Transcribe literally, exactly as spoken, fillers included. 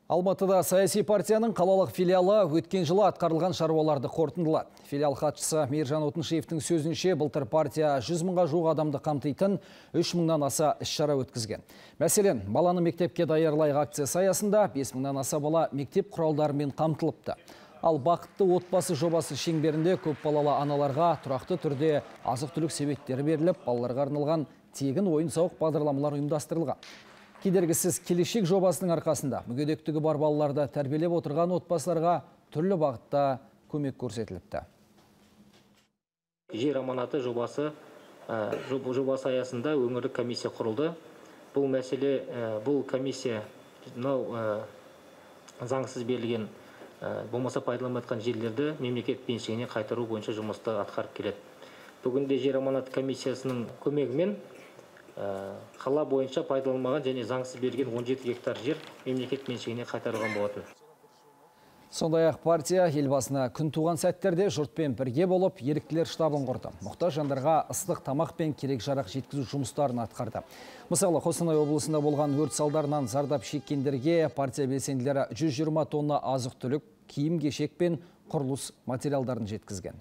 Алматыда саяси партияның қалалық филиалы өткен жылы атқарылған шаруаларды қорытындылады. Филиал хатшысы Мейіржан Отыншевтің сөзінше, былтыр партия жүз мыңға жуық адамды қамтитын үш мыңнан аса іс-шара өткізген. Мәселен, баланы мектепке даярлайық акциясы аясында бес мыңнан аса бала мектеп құралдарымен қамтылыпты. Ал бақытты отбасы жобасы шеңберінде көпбалалы аналарға тұрақты түрде азық-түлік себеттері беріліп, балаларға арналған тегін ойын-сауық бағдарламалар ұйымдастырылған. Кедергісіз келешек жобасының арқасында мүгедектігі бар балаларды тәрбиелеп отырған отбасыларға түрлі бағытта көмек көрсетіліпті. Жер аманаты жобасы жобасы аясында өңірлік комиссия құрылды. Бұл мәселе, бұл комиссия заңсыз берілген, болмаса пайдаланылмайтын жерлерді мемлекет меншігіне қайтару бойынша жұмысты атқарып келеді. Бүгінде жер аманаты комиссиясының көмегімен қала бойынша пайдаланылмаған және заңсыз берілген он жеті гектар жер мемлекет меншігіне қайтарылған болатын. Сондай-ақ партия елбасына күн туған сәттерде жұртпен бірге болып, еріктілер штабын құрды. Мұқтаж жандарға ыстық тамақ пен керек жарақ жеткізу жұмыстарын атқарды. Мысалы, Қостанай облысында болған өрт салдарынан зардап шеккендерге партия белсенділері жүз жиырма тонна азық-түлік, киім-кешек пен құрылыс материалдарын жеткізген.